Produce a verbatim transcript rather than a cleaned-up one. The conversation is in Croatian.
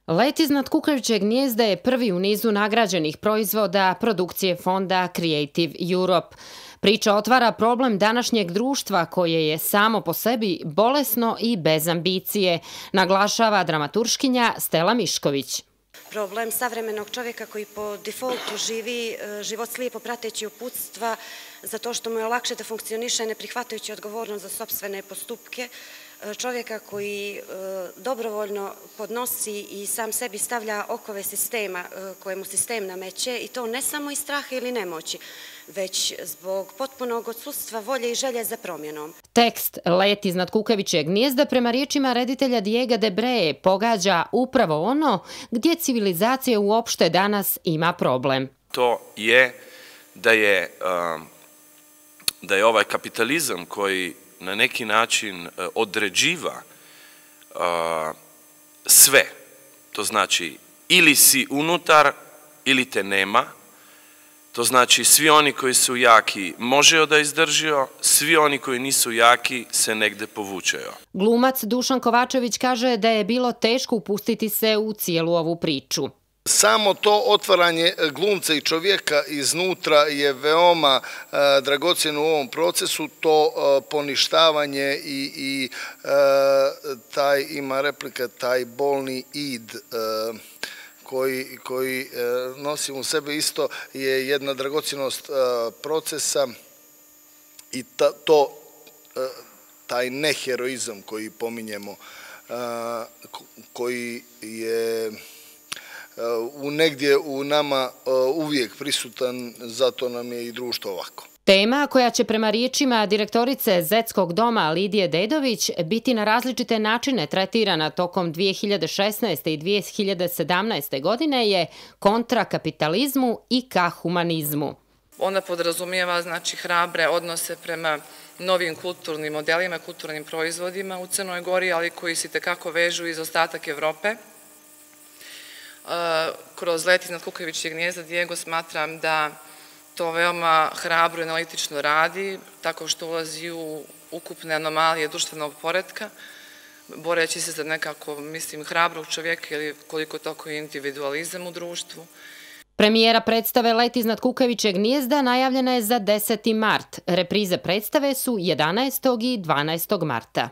Let iznad kukavičjeg gnijezda je prvi u nizu nagrađenih proizvoda produkcije fonda Creative Europe. Priča otvara problem današnjeg društva koje je samo po sebi bolesno i bez ambicije, naglašava dramaturškinja Stela Mišković. Problem savremenog čovjeka koji po defaultu živi život slijepo prateći uputstva zato što mu je lakše da funkcioniše ne prihvatajući odgovornost za sopstvene postupke, čovjeka koji dobrovoljno podnosi i sam sebi stavlja okove sistema koje mu sistem nameće i to ne samo iz straha ili nemoći, već zbog potpunog odsustva volje i želje za promjenom. Tekst Let iznad kukavičjeg gnijezda prema riječima reditelja Diega de Breje pogađa upravo ono gdje civilizacija uopšte danas ima problem. To je da je, da je ovaj kapitalizam koji na neki način određiva sve, to znači ili si unutar ili te nema, to znači svi oni koji su jaki možejo da izdržio, svi oni koji nisu jaki se negde povučejo. Glumac Dušan Kovačević kaže da je bilo teško upustiti se u cijelu ovu priču. Samo to otvaranje glumca i čovjeka iznutra je veoma dragocjeno u ovom procesu, to poništavanje i, i taj, ima replika, taj bolni id koji, koji nosi u sebe isto je jedna dragocjenost procesa i ta, to, taj neheroizam koji pominjemo, koji je u negdje u nama uvijek prisutan, zato nam je i društvo ovako. Tema koja će prema riječima direktorice Zetskog doma Lidije Dedović biti na različite načine tretirana tokom dvije hiljade šesnaeste. i dvije hiljade sedamnaeste. godine je kontra kapitalizmu i ka humanizmu. Ona podrazumijeva znači hrabre odnose prema novim kulturnim modelima, kulturnim proizvodima u Crnoj Gori, ali koji se itekako vežu iz ostatak Evrope. Kroz Let iznad kukavičjeg gnijezda Diego smatram da to veoma hrabro i analitično radi, tako što ulazi u ukupne anomalije društvenog poretka, boreći se za nekako, mislim, hrabrog čovjeka ili koliko toko individualizam u društvu. Premijera predstave Let iznad kukavičjeg gnijezda najavljena je za deseti mart. Reprize predstave su jedanaestog i dvanaestog marta.